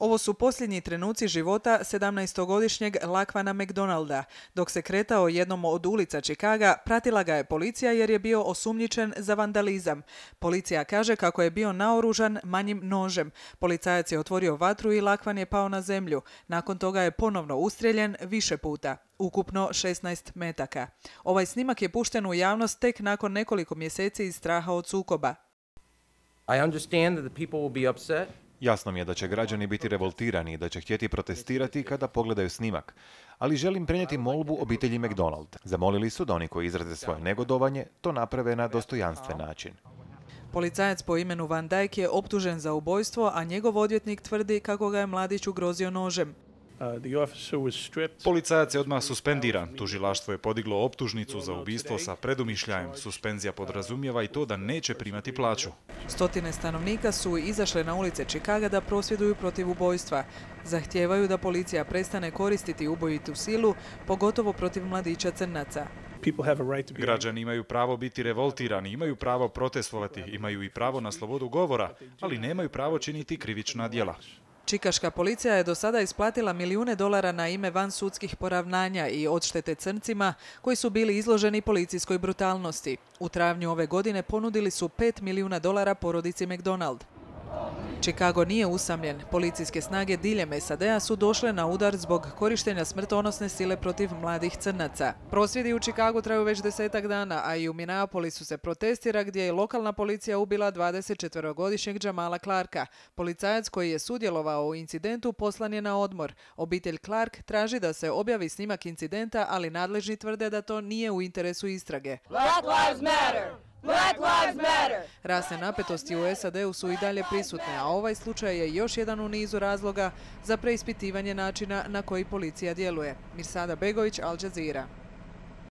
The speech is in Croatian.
Ovo su posljednji trenuci života 17-godišnjeg Laquana McDonalda. Dok se kretao jednom od ulica Chicaga, pratila ga je policija jer je bio osumnjičen za vandalizam. Policija kaže kako je bio naoružan manjim nožem. Policajac je otvorio vatru i Laquan je pao na zemlju. Nakon toga je ponovno ustrijeljen više puta. Ukupno 16 metaka. Ovaj snimak je pušten u javnost tek nakon nekoliko mjeseci iz straha od sukoba. I understand that the people will be upset. Jasno mi je da će građani biti revoltirani i da će htjeti protestirati kada pogledaju snimak. Ali želim prenijeti molbu obitelji McDonald. Zamolili su da oni koji izraze svoje negodovanje to naprave na dostojanstven način. Policajac po imenu Van Dyke je optužen za ubojstvo, a njegov odvjetnik tvrdi kako ga je mladić ugrozio nožem. Policajac je odmah suspendiran. Tužilaštvo je podiglo optužnicu za ubistvo sa predumišljajem. Suspenzija podrazumijeva i to da neće primati plaću. Stotine stanovnika su izašle na ulice Chicaga da prosvjeduju protiv ubojstva. Zahtijevaju da policija prestane koristiti ubojitu silu, pogotovo protiv mladića crnaca. Građani imaju pravo biti revoltirani, imaju pravo protestovati, imaju i pravo na slobodu govora, ali nemaju pravo činiti krivična djela. Čikaška policija je do sada isplatila milijune dolara na ime vansudskih poravnanja i odštete crncima koji su bili izloženi policijskoj brutalnosti. U travnju ove godine ponudili su $5 milijuna porodici McDonald. Chicago nije usamljen. Policijske snage diljem SAD-a su došle na udar zbog korištenja smrtonosne sile protiv mladih crnaca. Prosvjedi u Chicagu traju već 10 dana, a i u Minneapolisu se protestira gdje je lokalna policija ubila 24-godišnjeg Jamala Clarka. Policajac koji je sudjelovao u incidentu poslan je na odmor. Obitelj Clark traži da se objavi snimak incidenta, ali nadležni tvrde da to nije u interesu istrage. Black lives matter! Black lives matter! Rasne napetosti u SAD-u su i dalje prisutne, a ovaj slučaj je još jedan u nizu razloga za preispitivanje načina na koji policija djeluje. Mirsada Begović, Al Jazeera.